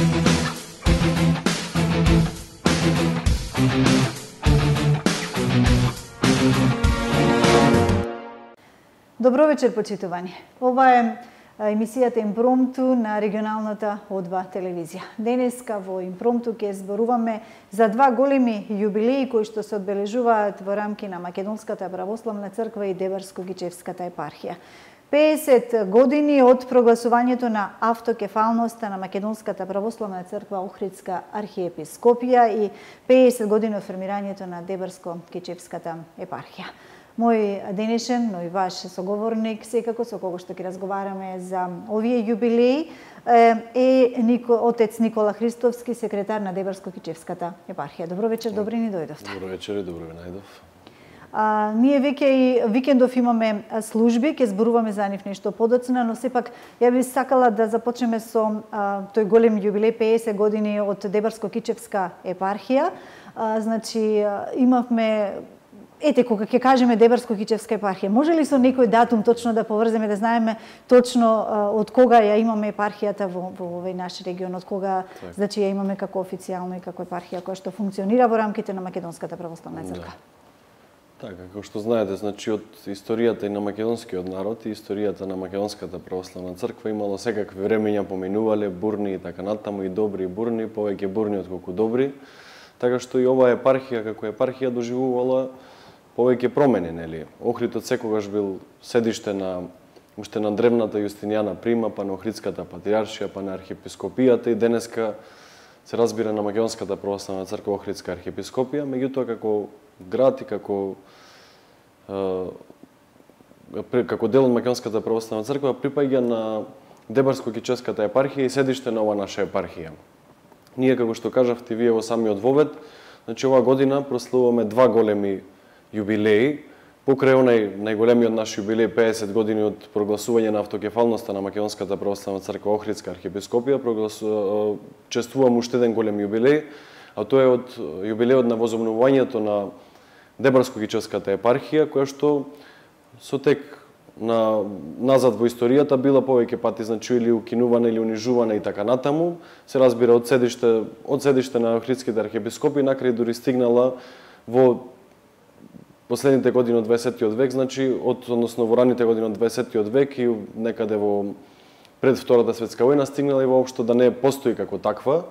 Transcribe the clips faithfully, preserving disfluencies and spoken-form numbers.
Добро вечер, почитувани. Ова е емисијата Импромту на регионалната О два телевизија. Денеска во Импромту ќе зборуваме за два големи јубилеи кои што се одбележуваат во рамки на Македонската православна црква и Дебарско-Гичевската епархија. педесет години од прогласувањето на автокефалноста на Македонската православна црква Охридска архиепископија и педесет години од формирањето на Дебарско-Гичевската епархија. Мој денешен, но и ваш соговорник, секако со кого што ќе разговараме за овие јубилеи, е Нико, отец Никола Христовски, секретар на Дебарско-Гичевската епархија. Добро вечер, добри ни дојдовте. Добро вечер и добро ви најдов. А, ние веќе и викендов имаме служби, ќе зборуваме за нив нешто подоцна, но сепак ја би сакала да започнеме со а, тој голем јубилеј, педесет години од Дебарско-Гичевска епархија. А, значи, имавме Ете, кога ќе кажеме Дебарско-Гичевска епархија, може ли со некој датум точно да поврземе, да знаеме точно а, од кога ја имаме епархијата во, во овој наш регион, од кога так. Значи ја имаме како официјално и како епархија која што функционира во рамките на Македонската православна црква? Да. Така, како што знаете, значи од историјата и на македонскиот народ и историјата на Македонската православна црква имало секакви времења, поминувале, бурни и така натаму, и добри и бурни, повеќе бурни отколку добри. Така што и оваа епархија како епархија доживувала повеќе промени, нели? Охрид од секогаш бил седиште на уште на древната Јустинијана Прима, па на Охридската патриаршија, па на архиепископијата и денеска се разбира на Македонската православна црква Охридска архиепископија, меѓутоа како град и како е, како дел од Македонската православна црква припаѓа на Дебарско-Гичевската епархија и седиште на ова наша епархија. Ние, како што кажавте вие во самиот вовед, значи оваа година прославуваме два големи јубилеи, покрај онај најголемиот наш јубилеј педесет години од прогласување на автокефалноста на Македонската православна црква Охридска архиепископија, прогласу... чествувам уште еден голем јубилеј, а тоа е од јубилејот на возобновувањето на Дебарско-Гичевската епархија, која што со тек на назад во историјата била повеќе пати значи или укинувана или унижувана и така натаму, се разбира од седиште од седиште на Охридските архиепископи, накрај дури стигнала во последните години од дваесеттиот век, значи од односно во раните години од дваесеттиот век и некаде во пред Втората светска војна стигнала и воопшто да не постои како таква.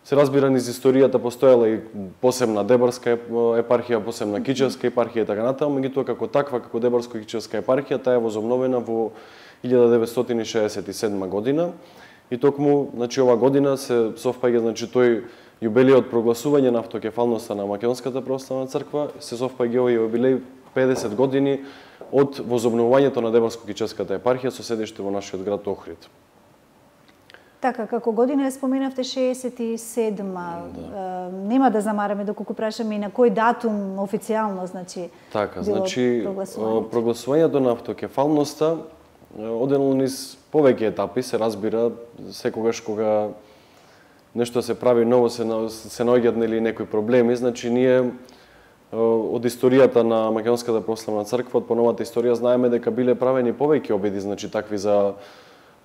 Се разбира низ историјата постоела и посебна Дебарска епархија, посебна Гичевска епархија и така натаму, меѓутоа како таква, како Дебарско-Гичевска епархија, таа е возобновена во илјада деветстотини шеесет и седма година и токму значи ова година се совпаѓа значи тој јубилеј од прогласување на автокефалноста на Македонската православна црква, се совпаѓа овој јубилеј педесет години од возобновувањето на Дебарско-Гичевската епархија со седиште во нашиот град Охрид. Така, како година ја споменавте шеесет и седма, да. Нема да замараме доколку прашаме и на кој датум официјално, значи, така, значи, прогласувањето. прогласувањето на автокефалноста одело низ повеќе етапи, се разбира, секогаш кога нешто се прави ново, се, се наоѓаат нели некои проблеми, значи ние од историјата на Македонската православна црква, од поновата историја знаеме дека биле правени повеќе обиди, значи такви за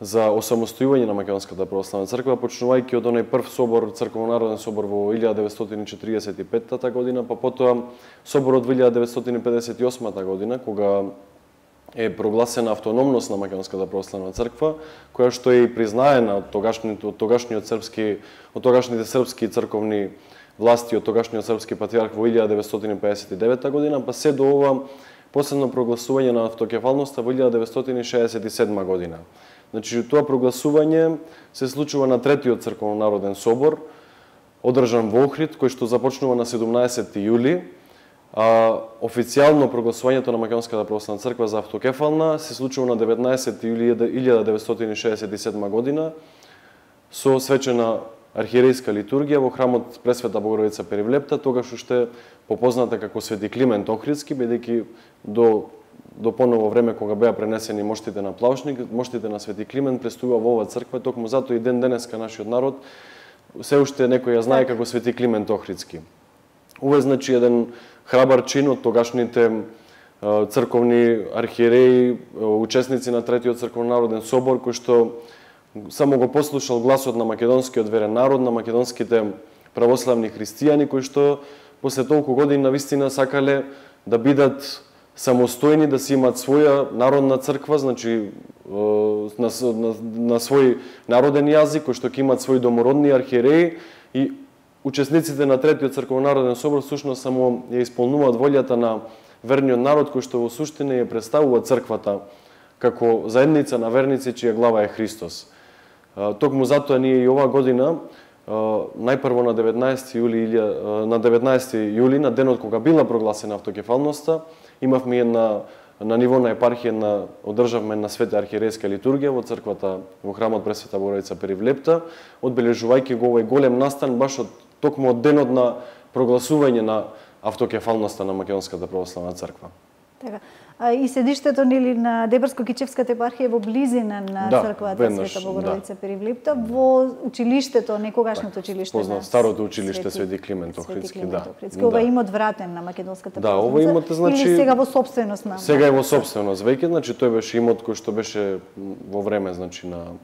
за осамостојување на Македонската православна црква, почнувајќи од оној прв собор, црковно-народен собор во илјада деветстотини четиридесет и петта година, па потоа соборот во илјада деветстотини педесет и осма година, кога е прогласена автономност на Македонската православна црква, која што е и признаена од тогашниот од тогашниот српски од тогашните српски црковни власти, од тогашниот српски патриарх во илјада деветстотини педесет и девета година, па се до ова последно прогласување на автокефалноста во илјада деветстотини шеесет и седма година. Значи тоа прогласување се случува на третиот црковно-народен собор, одржан во Охрид, кој што започнува на седумнаесети јули. А, официјално прогласувањето на Македонската православна црква за автокефална се случува на деветнаесети јули илјада деветстотини шеесет и седма година со свечена архиерејска литургија во храмот Пресвета Богородица Перивлепта, тогаш уште попозната како Свети Климент Охридски, бидејќи до до поново време кога беа пренесени моштите на Плаушник, моштите на Свети Климент престува во оваа црква, токму затоа и ден денеска нашиот народ се уште некој ја знае како Свети Климент Охридски. Ова е значи еден храбар чин од тогашните црковни архиереи, учесници на третиот црковно-народен собор, кои што само го послушал гласот на македонскиот верен народ, на македонските православни христијани кои што после толку години навистина сакале да бидат самостојни, да си имат своја народна црква, значи на, на, на свој народен јазик, кој што ќе имат своји домородни архиереи, и учесниците на третиот црковно-народен собор всушност само ја исполнуваат волјата на верниот народ кој што во суштина ја представува црквата како заедница на верници чија глава е Христос. Токму затоа ние и оваа година најпрво на деветнаесети јули на деветнаесети јули, на денот кога била прогласена автокефалноста, имавме една на ниво на епархија на одржавме на света архиерейска литургија во црквата во храмот Пресвета Богородица Перивлепта, одбележувајќи го овој голем настан баш од токму од денот на прогласување на автокефалноста на Македонската православна црква. Така. А, и седиштето нели на Дебарско-Кичевската епархија во близина на да, црквата веднаш, Света Богородица да. Перивлепта, во училиштето, некогашното училиште на старото училиште Свети Климент Охридски, да. Ова да. Имот вратен на Македонската да, ова имот, значи, или сега во собственост на сега е во собственост веќе, значи тој беше имот кој што беше во време, значи на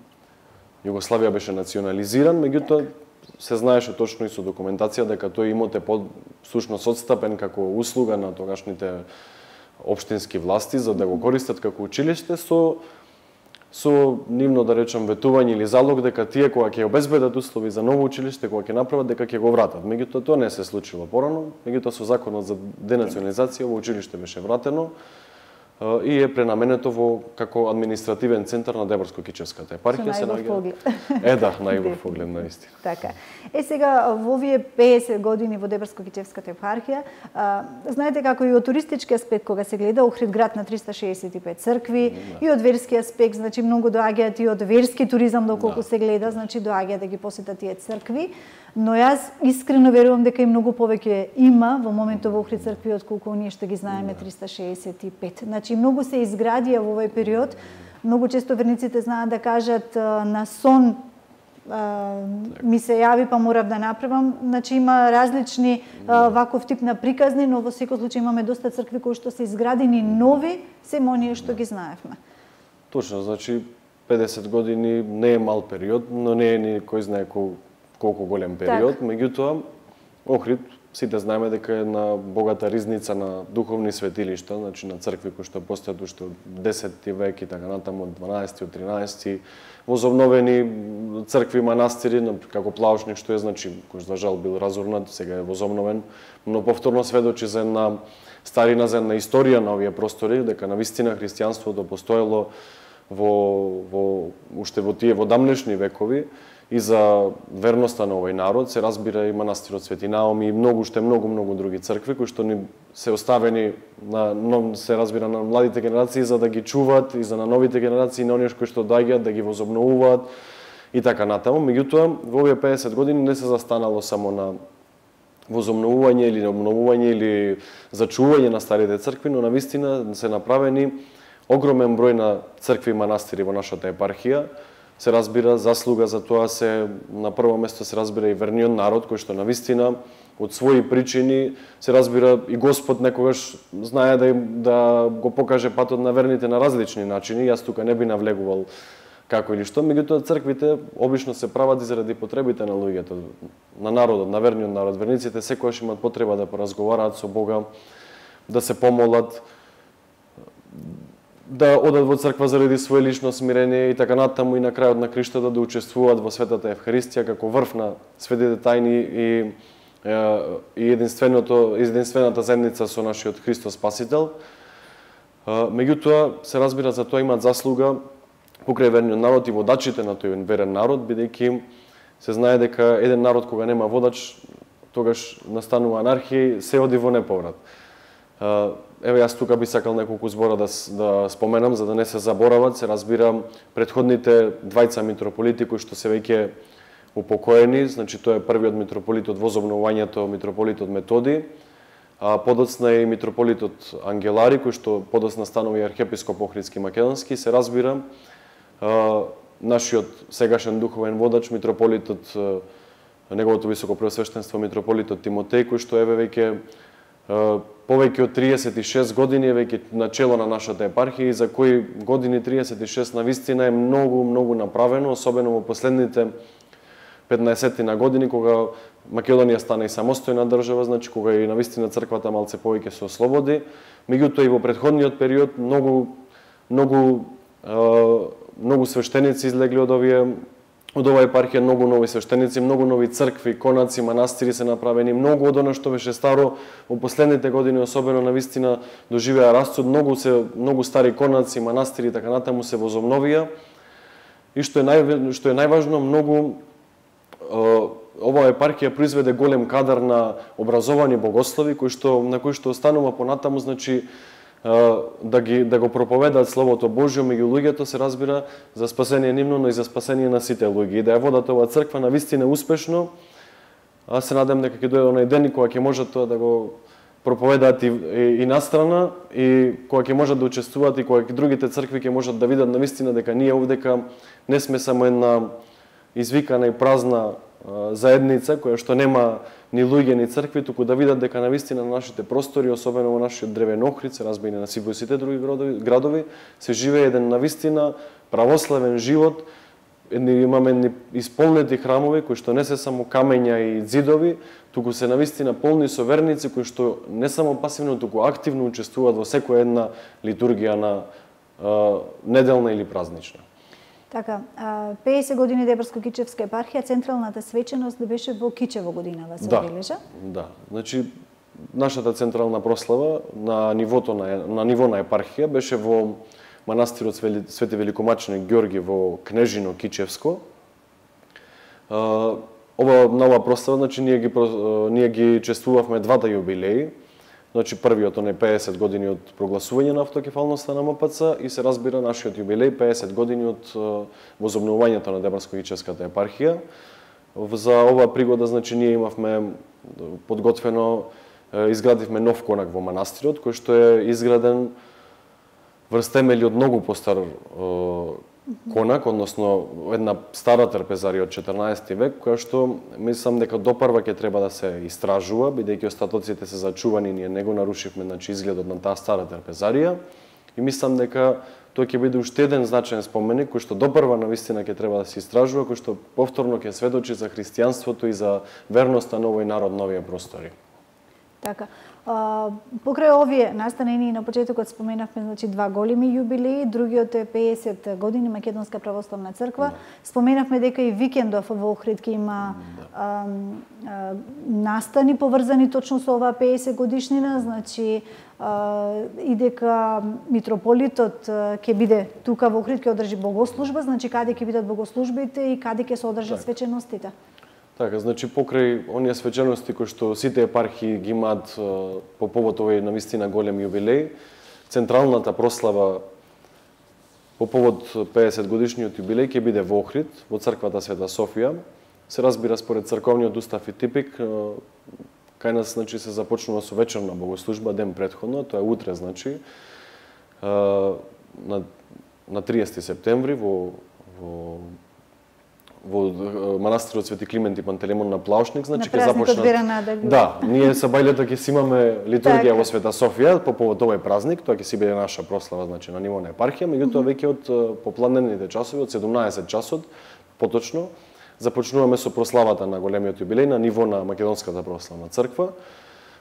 Југославија беше национализиран, меѓутоа се знаеше точно и со документација дека тој имот е под всушност одстапен како услуга на тогашните општински власти за да го користат како училиште со со нивно да речам ветување или залог дека тие кога ќе обезбедат услови за ново училиште, кога ќе направат дека ќе го вратат. Меѓутоа тоа не се случило порано, меѓутоа со законот за денационализација во училиште беше вратено и е пренаменето во како административен центар на Дебарско-Кичевската епархија. Со најубав поглед. Е, да, најубав поглед наистина. Така. Е сега во овие педесет години во Дебарско-Кичевската епархија, а, знаете како и од туристички аспект кога се гледа Охрид град на триста шеесет и пет цркви, да. И од верски аспект, значи многу доаѓаат и од верски туризам доколку да. Се гледа, значи доаѓаат да ги посетат тие цркви. Но јас искрено верувам дека и многу повеќе има во моментот во Охрид цркви отколку ние што ги знаеме триста шеесет и пет. Значи многу се изградија во овој период. Многу често верниците знаат да кажат на сон ми се јави па морав да направам. Значи има различни ваков тип на приказни, но во секој случај имаме доста цркви кои што се изградени нови, семо оние што ги знаевме. Точно, значи педесет години не е мал период, но не е ни кој знае колку колку голем период, так. Меѓутоа Охрид сите знаеме дека е на богата ризница на духовни светилишта, значи на цркви кои што постојат уште од десети век и така натаму, од дванаесети, од тринаесети, возобновени цркви, манастири, како Плаушник што е, значи, кој за жал бил разурнат, сега е возобновен, но повторно сведочи за една старина, за една историја на овие простори, дека навистина христијанството постоело во, во уште во тие во дамнешни векови, и за верноста на овој народ, се разбира и манастирот Свети Наоми и многу уште многу многу други цркви кои што ни се оставени на но се разбира на младите генерации за да ги чуваат и за на новите генерации, на оние кои што доаѓаат да ги возобновуваат и така натаму. Меѓутоа, во овие педесет години не се застанало само на возобновување или на обновување или зачување на старите цркви, но навистина се направени огромен број на цркви и манастири во нашата епархија. Се разбира заслуга за тоа се на прво место се разбира и верниот народ кој што навистина од своји причини се разбира и Господ некогаш знае да да го покаже патот на верните на различни начини. Јас тука не би навлегувал како или што, меѓутоа црквите обично се прават и заради потребите на луѓето, на народот, на верниот народ. Верниците секогаш имаат потреба да поразговараат со Бога, да се помолат, да одат во црква заради свое лично смирение и така натаму и на крајот на криштата да учествуваат во светата Евхаристија како врв на светите тајни и и единственото единствената заедница со нашиот Христос Спасител. Меѓутоа се разбира за тоа имаат заслуга покрај верниот народ и водачите на тој верен народ, бидејќи се знае дека еден народ кога нема водач, тогаш настанува анархија и се оди во неповрат. Еве јас тука би сакал неколку збора да, да споменам, за да не се заборават. Се разбира претходните двајца митрополити кои што се веќе упокоени, значи тоа е првиот митрополит од возобновувањето, митрополитот Методи, а подоцна е и митрополитот Ангелари, кој што подоцна станува и архиепископ Охридски македонски. Се разбира нашиот сегашен духовен водач, митрополитот, неговото високо преосвештенство, митрополитот Тимотеј, кој што еве веќе повеќе од триесет и шест години е веќе на чело на нашата епархија и за кои години триесет и шест навистина е многу, многу направено, особено во последните петнаесет години, кога Македонија стана и самостојна држава, значи кога и навистина црквата малце повеќе се ослободи. Меѓутоа и во претходниот период многу многу многу свештеници излегли од овие од оваа епархија, многу нови свештеници, многу нови цркви, конаци, манастири се направени, многу од она што беше старо во последните години, особено навистина доживеа расцут, многу се многу стари конаци, манастири и така натаму се возобновија. И што е нај што е најважно, многу оваа епархија произведе голем кадар на образовани богослови кои што на кои што останува понатаму, значи да ги да го проповедаат словото Божјо меѓу луѓето, се разбира, за спасение нивно, но и за спасение на сите луѓе. И да ја водат оваа црква навистина успешно. Аз се надам дека ќе дојде онај ден кога ќе можат тоа да го проповедаат и, и, и настрана, и кога ќе можат да учествуваат и кога другите цркви ќе можат да видат навистина дека ние овдека не сме само една извикана и празна заедница која што нема ни луѓе ни цркви, туку да видат дека навистина на нашите простори, особено во нашиот древен Охрид, се разбира на сите сите други градови, градови, се живее еден навистина православен живот. Едни имаме едни исполнети храмови кои што не се само камења и ѕидови, туку се навистина полни со верници кои што не само пасивно, туку активно учествуваат во секоја една литургија на а, неделна или празнична. Така, пеесет години Дебрско-Кичевска епархија, централната свеченост беше во Кичево годинава се обележа? Да, значи нашата централна прослава на нивото на на ниво на епархија беше во манастирот Свети Великомаченик Ѓорги во Кнежино Кичевско. Ова нова прослава, значи ние ги ние ги чествувавме двата јубилеи. Значи првиот оне пеесет години од прогласување на автокефалноста на М П Ц и се разбира нашиот јубилеј пеесет години од возобновувањето на Дебрско-Кичевската епархија. За оваа пригода, значи ние имавме подготвено, изградивме нов конак во манастирот кој што е изграден врз темели од многу постар конак, односно една стара трпезарија од четрнаесети век, која што мислам дека допрва ќе треба да се истражува, бидејќи остатоците се зачувани, ние не го нарушивме, значи изгледот на таа стара трпезарија, и мислам дека тоа ќе биде уште еден значаен споменик кој што допрва навистина ќе треба да се истражува, кој што повторно ќе сведочи за христијанството и за верноста на овој народ на овие простори. Така. А, покрај овие настанени на почетокот споменавме, значи два големи јубилеи, другиот е пеесет години Македонска православна црква. Да. Споменавме дека и викендов во Охрид ќе има да. а, а, настани поврзани точно со оваа пеесет годишнина, значи а, и дека митрополитот ќе биде тука во Охрид, ќе одржи богослужба, значи каде ќе бидат богослужбите и каде ќе се одржат так. свеченостите. Така, значи покрај оние свечености кои што сите епархии ги имаат по повод овој навистина голем јубилеј, централната прослава по повод пеесет годишниот јубилеј ќе биде во Охрид, во црквата Света Софија. Се разбира според црковниот устав и типик, кај нас значи се започнува со вечерна богослужба ден претходно, тоа е утре, значи на на триесети септември во во во манастирот Свети Климент и Пантелеймон на Плаушник, значи ќе започнат. Да, ние са бајлето ќе си имаме литургија во Света Софија по повод овој празник, тоа ќе си биде наша прослава, значи на ниво на епархија, меѓутоа веќе од попладнените часови, од седумнаесет часот, поточно, започнуваме со прославата на големиот јубилеј на ниво на Македонската православна црква,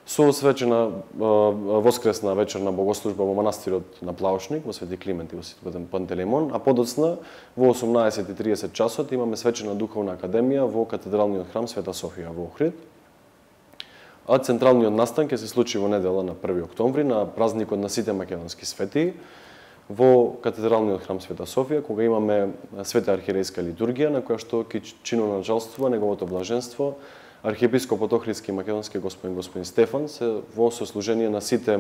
со освечена воскресна вечерна богослужба во манастирот на Плаушник, во Свети Климент и во Свети Пантелеймон, а подоцна во осумнаесет и триесет часот имаме свечена духовна академија во катедралниот храм Света Софија во Охрид. А централниот настан ќе се случи во недела на први октомври на празникот на сите македонски светии во катедралниот храм Света Софија, кога имаме света архиерејска литургија на која што ќе чиноначалствува неговото блаженство архиепископот Охридски македонски господин господин Стефан, се во сослужение на сите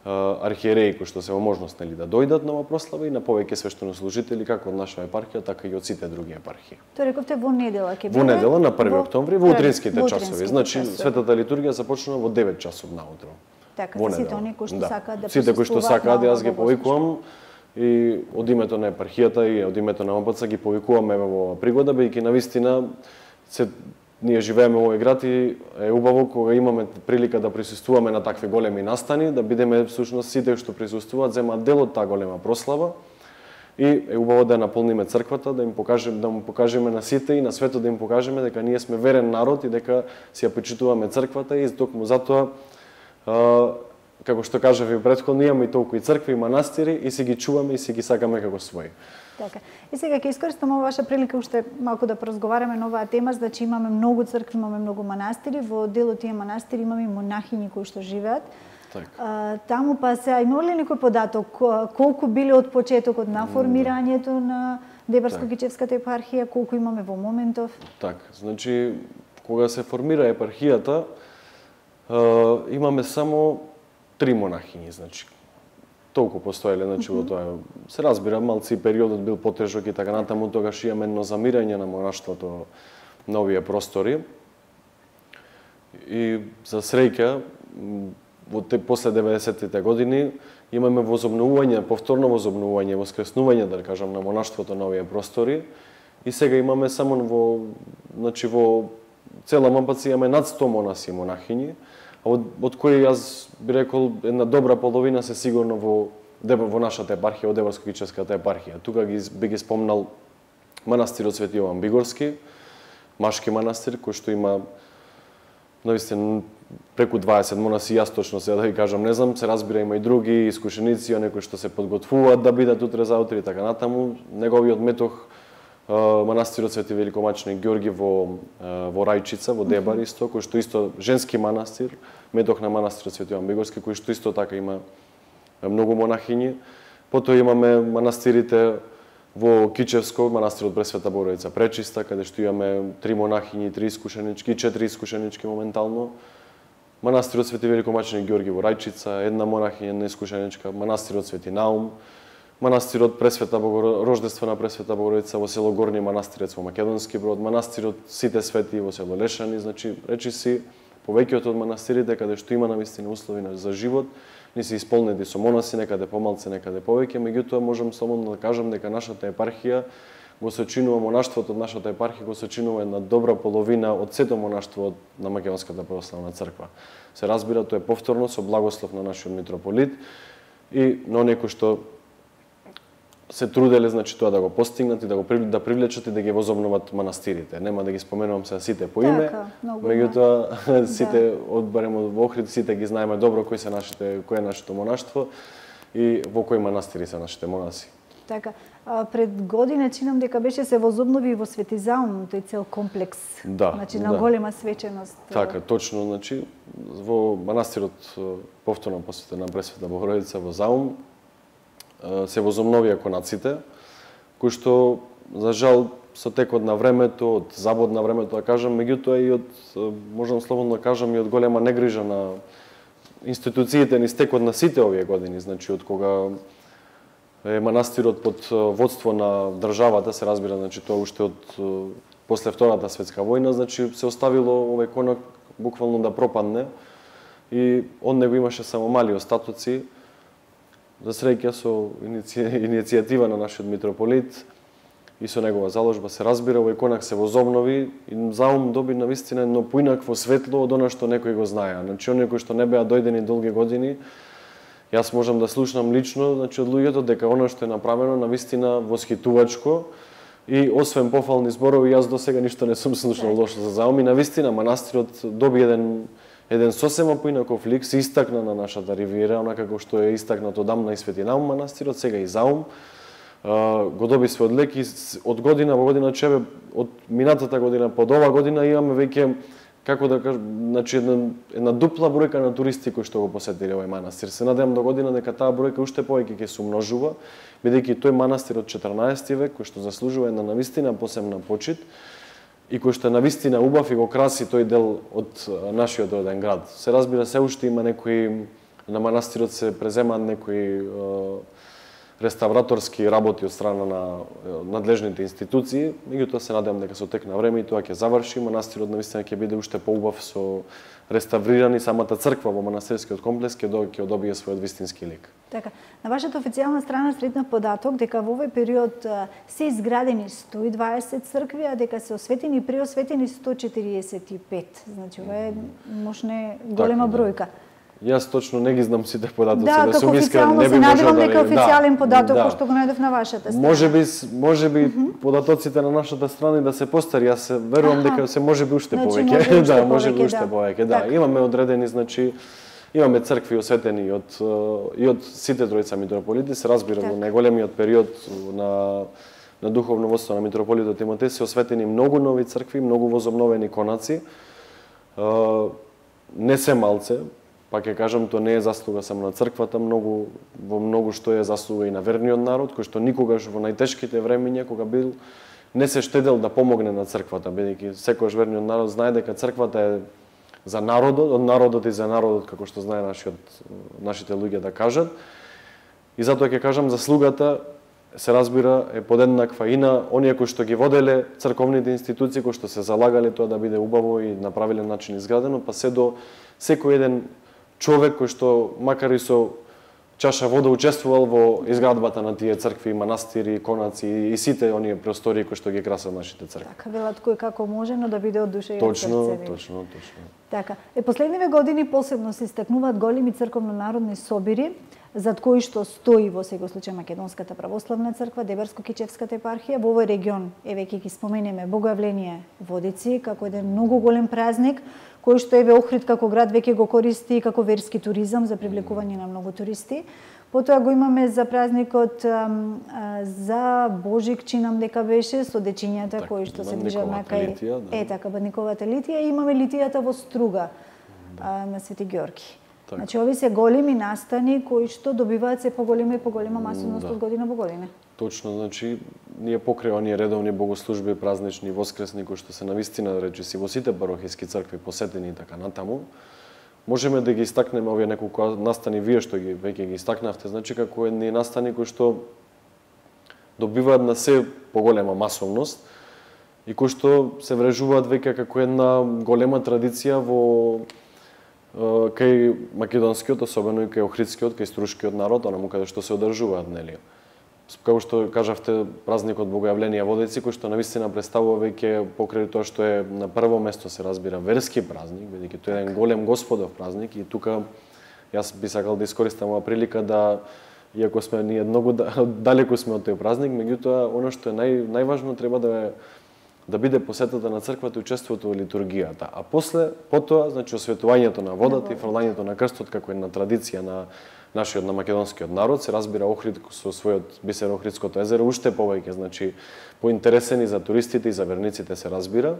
архиереи кои што се во можност нели да дојдат на оваа прослава и на повеќе свештенослужители како од наша епархија, така и од сите други епархии. Тоа рековте во недела ќе биде? Во недела на први октомври во утринските часови. Значи светата литургија започнува во девет часот наутро. Така, сите оние кои што сакаат да сите кои што сакаат, јас ги повикувам и од името на епархијата и од името на М П Ц ги повикуваме во оваа пригода, бидејќи навистина се ние живееме во овој град и е убаво кога имаме прилика да присуствуваме на такви големи настани, да бидеме всушност сите што присуствуваат земаат дел од таа голема прослава. И е убаво да наполниме црквата, да им покажеме, да му покажеме на сите и на светот да им покажеме дека ние сме верен народ и дека си ја почитуваме црквата и токму затоа како што кажав и претходно, имаме и толку и цркви и манастири и си ги чуваме и си ги сакаме како своји. Така. И сега ќе искористам ова ваша прилика уште малку да поразговараме на оваа тема, значи имаме многу цркви, имаме многу манастири, во дел од тие манастири имаме и монахини кои што живеат. Так. А, таму па се има ли некој податок колку биле од почетокот на формирањето на Дебарско-Кичевската епархија, колку имаме во моментов? Так, значи кога се формира епархијата, имаме само три монахини, значи толку постоеле, значи во тоа се разбира, малци периодот бил потежок и така натаму, тогаш имаме едно замирање на монаштвото на овие простори. И за среќа во те после деветдесеттите години имаме возобновување, повторно возобновување, воскреснување, да кажам, на монаштвото на овие простори. И сега имаме само во, значи во цела Мапац имаме над сто монаси и монахини, а од, од кои јас би рекол една добра половина се сигурно во во нашата епархија, од Дебарско-Кичевската епархија. Тука ги би ги спомнал манастирот Свети Јован Бигорски, машки манастир кој што има навистина преку дваесет монаси, јас точно сега да ви кажам, не знам, се разбира има и други искушеници, оние што се подготвуваат да бидат утре заутре и така натаму. Неговиот метох манастирот Свети Великомаченик Ѓорги во во Рајчица, во Дебар исто, кој што исто женски манастир, метох на манастирот Свети Јован Бигорски, кој што исто така има многу монахини. Потоа имаме манастирите во Кичевско, манастирот Пресвета Богородица Пречиста, каде што имаме три монахини, три искушенички, четири искушенички моментално. Манастирот Свети Великомаченик Ѓорги во Рајчица, една монахиња, една искушеничка, манастирот Свети Наум, манастирот Пресвета Богородица, Рождествена Пресвета Богородица во село Горни Манастирец во Македонски Брод, манастирот Сите Свети во село Лешани, значи речи си повеќето од манастирите каде што има навистина услови за живот, не се исполнети со монаси, некаде помалце, некаде повеќе, меѓутоа можам слободно да кажам дека нашата епархија го сочинува монаштвото од нашата епархија го сочинува една добра половина од сето монаштво на Македонската православна црква. Се разбира, тоа е повторно со благослов на нашиот митрополит и на оние кои што се труделе, значи тоа да го постигнат и да го да привлечат и да ги возобноват манастирите. Нема да ги споменувам се сите по име, меѓутоа сите од барем од Охрид сите ги знаеме добро кои се нашите, кој е нашето монаштво и во кои манастири се нашите монаси. Така, а, пред година чинам дека беше се возобнови во Свети Заум, тој цел комплекс, да, значи на да. голема свеченост. Така, точно, значи во манастирот повторно посветен на Пресвета Богородица во Заум се возобновија конаците, кои што за жал со текот на времето, од забод на времето да кажам, меѓутоа и од можам слободно да кажам и од голема негрижа на институциите низ текот на сите овие години, значи од кога е манастирот под водство на државата, се разбира, значи тоа уште од после Втората светска војна, значи се оставило овој конак буквално да пропадне и од него имаше само мали остатоци. За среќа со иницијатива на нашиот митрополит и со негова заложба се разбира, овој конак се возобнови и Заум доби навистина едно поинакво светло од она што некои го знаеа. Значи оние кои што не беа дојдени долги години, јас можам да слушнам лично, значи од луѓето дека она што е направено навистина восхитувачко и освен пофални зборови, јас досега ништо не сум слушнал лошо за Заум и навистина манастирот доби еден еден сосема поинаков лик, се истакна на нашата ривиера, онака како што е истакнато одамна и Свети Наум манастирот, сега и Заум, го доби својот лик и од година во година чебе, од минатата година под ова година имаме веќе, како да кажам, значи една, една дупла бројка на туристи кои што го посетиле овој манастир. Се надевам до година дека таа бројка уште повеќе ќе се умножува, бидејќи тој манастир од четрнаесети век, кој што заслужува една навистина посебна почит, и кој што е навистина убав и го краси тој дел од нашиот роден град. Се разбира, се уште има некои, на манастирот се преземаат некои е, реставраторски работи од страна на надлежните институции, меѓутоа се надевам дека со тек на време и тоа ќе заврши, манастирот навистина ќе биде уште поубав со реставрирани, самата црква во манастирскиот комплекс ќе добие својот вистински лик. Така, на вашата официјална страна сретнав податок дека во овој период се изградени сто и дваесет цркви, а дека се осветени и преосветени сто четириесет и пет. Значи, ова е мошне голема така, бројка. Да. Јас точно не ги знам сите податоци, да, да сум искрен, не би се надевам можел дека официјален да, податок да. кој што го најдов на вашата страна. Можеби можеби mm -hmm. податоците на нашата страна да се постари, јас се верувам Аха. дека се можеби уште значи, повеќе. може да, повеќе, можеби уште да. повеќе. Да, така. Имаме одредени, значи имаме цркви осветени од и од сите тројца митрополити, се разбира во најголемиот период на на духовно водство на митрополитот Тимотеј се осветени многу нови цркви, многу возобновени конаци. Не се малце, па ќе кажам, тоа не е заслуга само на црквата, многу во многу што е заслуга и на верниот народ, кој што никогаш во најтешките времиња кога бил не се штедел да помогне на црквата, бидејќи секојаш верниот народ знае дека црквата е за народот, од народот и за народот, како што знае нашиот, нашите луѓе да кажат. И затоа ќе кажам, заслугата се разбира е подеднаква и на оние кои што ги воделе црковните институции, кои што се залагале тоа да биде убаво и на правилен начин изградено, па се до секој еден човек кој што макар и со чаша вода учествувал во изградбата на тие цркви, манастири, конаци и сите оние простории кои што ги красат нашите цркви. Така, велат кој како може, но да биде од душа и од срце. Точно, точно, точно. Така, е последниве години посебно се истакнуваат големи црковно-народни собири, зад кои што стои во секој случај Македонската православна црква, Дебарско-Кичевската епархија. Во овој регион, еве ќе ги споменеме Богојавление Водици како еден многу голем празник, кој што еве Охрид како град веќе го користи како верски туризам за привлекување на многу туристи. Потоа го имаме за празникот а, а, за Божик, чинам дека беше, со дечињата так, кои што се движат на кај Литија, да. Е така, Бадниковата Литија, и имаме литијата во Струга, да. а, на Свети Ѓорги. Так. Значи, ови се големи настани кои што добиваат се поголема и поголема масовност да. од година во година. Точно, значи, ние покрај оние редовни богослужби, празнични, воскресни, кои што се навистина, речиси, во сите парохиски цркви посетени и така натаму, можеме да ги истакнеме овие неколку настани, вие што ги веќе ги истакнавте, значи како едни настани кои што добиваат на се поголема масовност и кои што се врежуваат веќе како една голема традиција во кај македонскиот, особено и кај охридскиот, кај струшкиот народ, онаму каде што се одржуваат, нели? Како што кажавте, празникот Богојавление Водици, кој што навистина представува веќе покрај тоа што е на прво место се разбира верски празник, бидејќи тоа е еден голем Господов празник, и тука јас би сакал да искористам оваа прилика да, иако сме ние многу далеку сме од тој празник, меѓутоа оно што е нај најважно треба да е да биде посетата на црквата и учеството во литургијата. А после, потоа, значи, осветувањето на водата и фрлањето на крстот како една традиција на нашиот, на македонскиот народ, се разбира Охрид со својот бисер Охридското езеро, уште повеќе, значи, поинтересени за туристите и за верниците се разбира.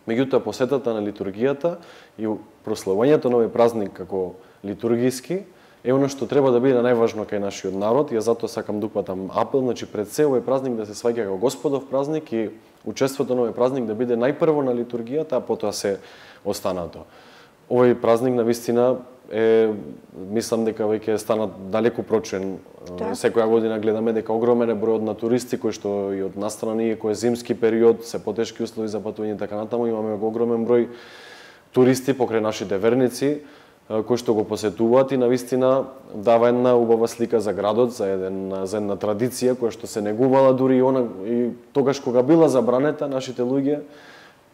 Меѓутоа, посетата на литургијата и прославувањето на овој празник како литургиски е оно што треба да биде најважно кај нашиот народ, и затоа сакам да упатам апел, значи пред се овој празник да се сваќа како Господов празник и учеството на овој празник да биде најпрво на литургијата, а потоа се останато. Овој празник навистина е, мислам дека веќе стана далеку прочен. Так. Секоја година гледаме дека огромен е бројот на туристи кои што и од настрана ние кој е зимски период, се потешки услови за патување така натаму, имаме огромен број туристи покрај нашите верници кои што го посетуваат и навистина дава една убава слика за градот, за еден за една традиција која што се негувала дури и она и тогаш кога била забранета, нашите луѓе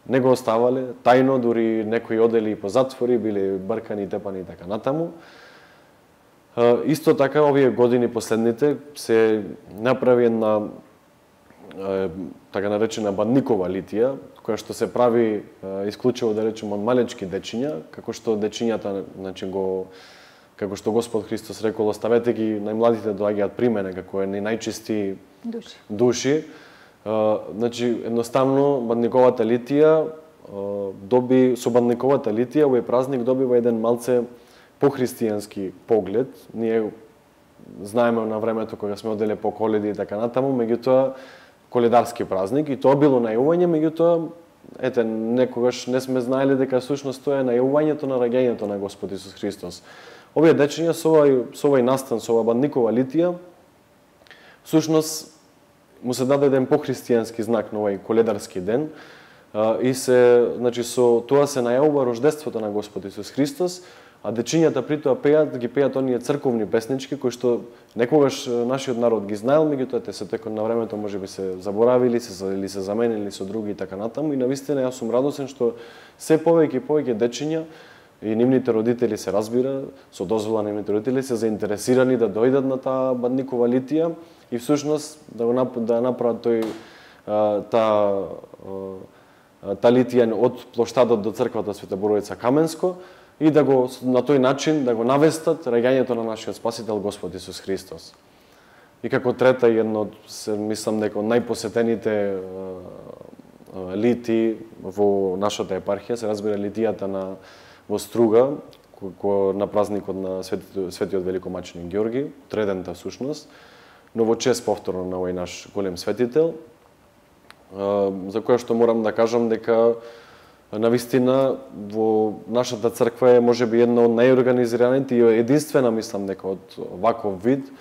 не го оставале тајно, дури некои одели по затвори, биле бркани, тепани и така натаму. Исто така овие години последните се направи една така наречена Бадникова литија, која што се прави исклучиво, да речеме, од малечки дечиња, како што дечињата, значи го како што Господ Христос рекол, оставете ги најмладите доаѓаат при мене, како едни најчисти души. души. Значи едноставно Бадниковата литија доби со Бадниковата литија овој празник добива еден малце похристијански поглед. Ние знаеме на времето кога сме оделе по коледи и така натаму, меѓутоа коледарски празник, и тоа било најување, меѓутоа ете некогаш не сме знаеле дека всушност тоа е најувањето на раѓањето на Господ Исус Христос. Овие дечиња со овој со овој настан, со ова Бадникова литија, всушност му се даде еден похристијански знак на овој коледарски ден, и се, значи со тоа се најавува рождеството на Господ Исус Христос, а дечињата при тоа пеат, ги пеат оние црковни песнички кои што некогаш нашиот народ ги знаел, меѓутоа те се текот на времето можеби се заборавили, се или се заменили со други и така натаму, и навистина јас сум радосен што се повеќе и повеќе дечиња и нивните родители, се разбира, со дозвола нивните родители се заинтересирани да дојдат на таа бадникова литија и всушност да го да направат тој таа та литија од плоштадот до црквата Света Боровица Каменско и да го на тој начин да го навестат раѓањето на нашиот Спасител Господ Исус Христос. И како трета едно од се мислам дека најпосетените лити во нашата епархија се разбира литијата на во Струга, кој на празникот на Светиот, Светиот Великомаченик Ѓорги, тредента всушност, но во чест повторно на овој наш голем светител, за која што морам да кажам дека навистина во нашата црква е можеби една од најорганизираните и единствена, мислам дека од ваков вид,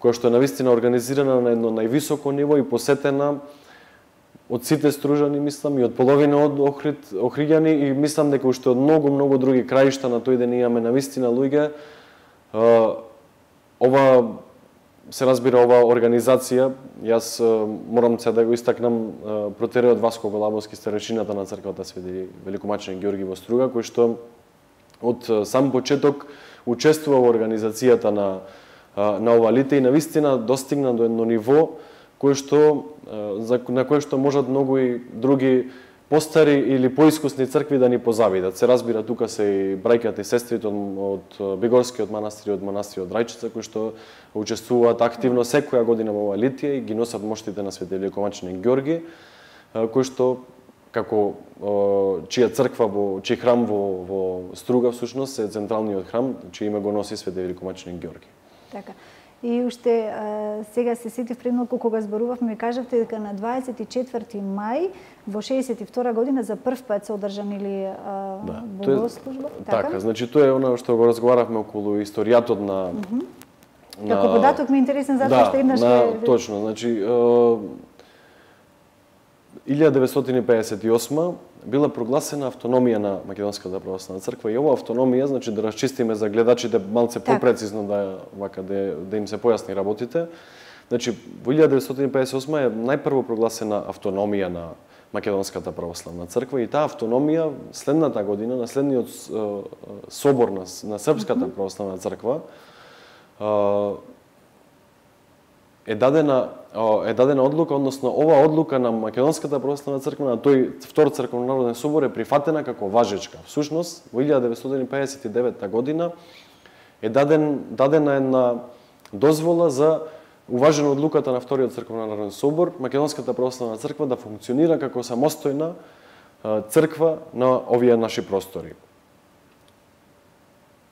која што е навистина организирана на едно највисоко ниво и посетена од сите стружани, мислам, и од половина од Охрид, охриѓани, и мислам дека уште од многу, многу други краишта на тој ден имаме навистина луѓе. Ова, се разбира, ова организација, јас морам се да го истакнам протереот Васко Голабовски, старешината на црквата Свети Великомаченик Ѓорги во Струга, кој што од сам почеток учествува во организацијата на, на ова лите и навистина достигна до едно ниво кој што, на кое што можат многу и други постари или поискусни цркви да ни позавидат. Се разбира, тука се и браќата и сестрите од, од Бегорскиот манастир и од манастирот Рајчица, кои што учествуваат активно секоја година во ова литија и ги носат моштите на Свети Великомаченик Ѓорги, кој што како чија црква во чиј храм во во Струга всушност е централниот храм, чиј име го носи Свети Великомаченик Ѓорги. Така. И уште а, сега се сетив пред малку кога зборувавме, ми кажавте дека на дваесет и четврти мај во шеесет и втора година за прв пат се одржанили а, да, богослужба. Така? така, значи тоа е она што го разговаравме околу историјатот на mm -hmm. на Како податок ми е интересен затоа да, што еднаш на, е точно, значи илјада деветстотини пеесет и осма била прогласена автономија на Македонската православна црква и ова автономија, значи да расчистиме за гледачите малце так. попрецизно да вака да, да им се појасни работите. Значи во илјада деветстотини пеесет и осма е најпрво прогласена автономија на Македонската православна црква и таа автономија следната година на следниот собор на, на Српската православна црква е дадена е дадена одлука, односно ова одлука на Македонската православна црква на тој втор црковнонароден собор е прифатена како важечка. Всушност во илјада деветстотини пеесет и девета година е даден дадена една дозвола за уважена одлуката на вториот црковнонароден собор Македонската православна црква да функционира како самостојна црква на овие наши простори.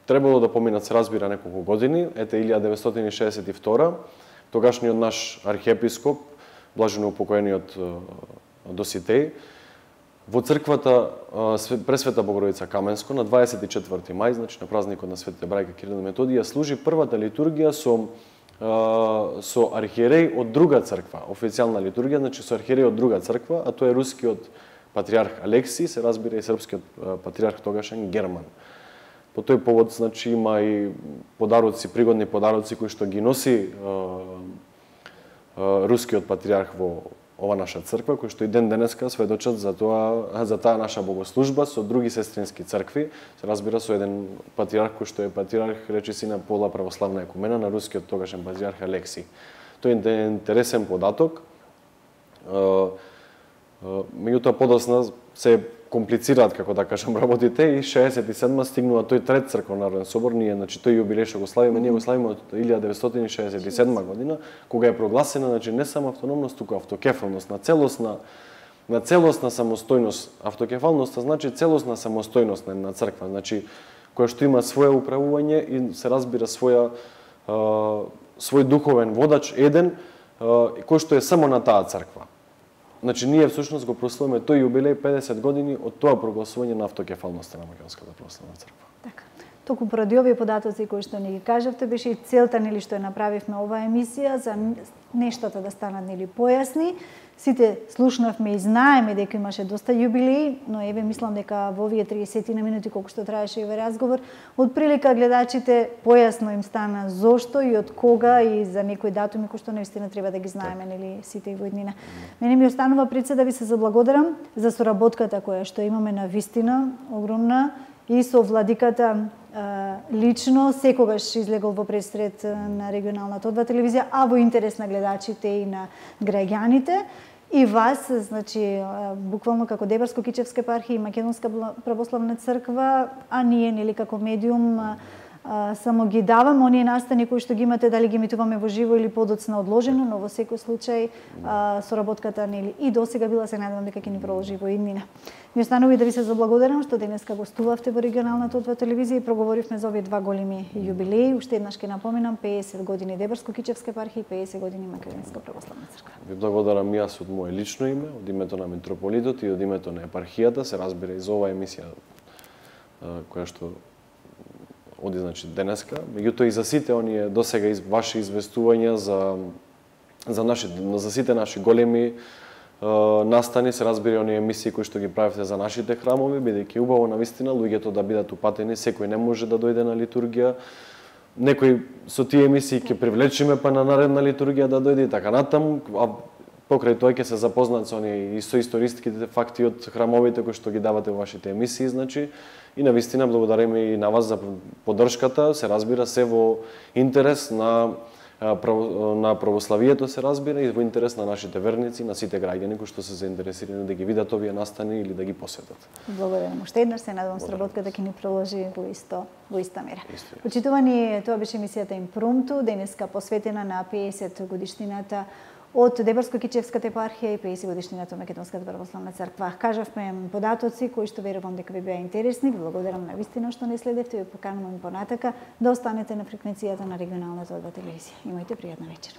Требало да поминат, се разбира, неколку години, ете илјада деветстотини шеесет и втора, тогашниот наш архиепископ, блажено упокоениот Доситеј, во црквата Пресвета Богородица Каменско на дваесет и четврти мај, значи на празникот на светите браќа Кирил и Методија, служи првата литургија со со архиереј од друга црква, официјална литургија, значи со архиереј од друга црква, а тоа е рускиот патриарх Алексиј, се разбира и српскиот патриарх тогашен Герман. По тој повод, значи, има и подароци, пригодни подароци кои што ги носи е, е, рускиот патриарх во ова наша црква, кои што и ден денеска сведочат за тоа, за таа наша богослужба со други сестрински цркви, се разбира со еден патриарх кој што е патриарх, речиси на пола православна екумена на рускиот тогашен патриарх Алексиј. Тој е интересен податок. Меѓутоа подосна се комплицираат, како да кажам, работите и шеесет и седма стигнува тој трет црковнонароден собор, ние, значи, тој јубилеј што го славиме, ние го славиме од илјада деветстотини шеесет и седма година, кога е прогласена, значи, не само автономност, туку автокефалност, на целосна, на целосна самостојност. Автокефалноста значи целосна самостојност на една црква, значи, која што има своје управување и се разбира своја, а, свој духовен водач, еден, а, кој што е само на таа црква. Значи, ние всушност го прославиме тој јубилеј педесет години од тоа прогласување на автокефалноста на Македонската православна црква. Така. току поради овие податоци кои што ни ги кажавте, беше и целта нели што ја направивме оваа емисија за нештата да станат нели појасни. Сите слушнавме и знаеме дека имаше доста јубилеи, но еве мислам дека во овие триесет минути колку што траеше овој разговор, од прилика гледачите појасно им стана зошто и од кога и за некои датуми кои што навистина треба да ги знаеме нели сите во иднина. Мене ми останува пред се да ви се заблагодарам за соработката која што имаме на вистина огромна и со владиката лично секогаш излегол во пресред на регионалната одва телевизија, а во интерес на гледачите и на граѓаните. И вас, значи, буквално како Дебарско-Кичевска епархија и Македонска православна црква, а ние, нели, како медиум, само ги давам оние настани кои што ги имате, дали ги емитуваме во живо или подоцна одложено, но во секој случај соработката нели и досега била, се надевам дека ќе ни продолжи во иднина. Ми останува и да ви се заблагодарам што денеска гостувавте во регионалната одва телевизија и проговоривме за овие два големи јубилеи. Уште еднаш ќе напоменам пеесет години Дебарско-Кичевска епархија и пеесет години Македонска православна црква. Ви благодарам и јас од мое лично име, од името на митрополитот и од името на епархијата, се разбира и за оваа емисија која што оди значи денеска, меѓутоа и за сите оние досега из ваши известувања за за наши за сите наши големи е, настани, се разбира оние емисии кои што ги правите за нашите храмови, бидејќи убаво навистина луѓето да бидат упатени, секој не може да дојде на литургија. Некои со тие емисии ќе привлечиме па на наредна литургија да дојде и така натаму, а покрај тоа ќе се запознаат со оние и со историските факти од храмовите кои што ги давате во вашите емисии, значи. И навистина благодариме и на вас за поддршката, се разбира се во интерес на на православието, се разбира, и во интерес на нашите верници, на сите граѓани кои што се заинтересирани да ги видат овие настани или да ги посетат. Благодарам. Уште еднаш се надевам сработката ќе ни продолжи во исто во иста мера. Почитувани, тоа беше емисијата Импромту, денеска посветена на пеесет годишнината од Дебарско-Кичевската епархија и пеесет годишнината од Македонската православна црква. Кажавме податоци кои што верувам дека ви беа интересни. Ви благодарам на вистина што не следевте и поканувам понатака да останете на фреквенцијата на регионалната одва телевизија. Имајте пријатна вечер.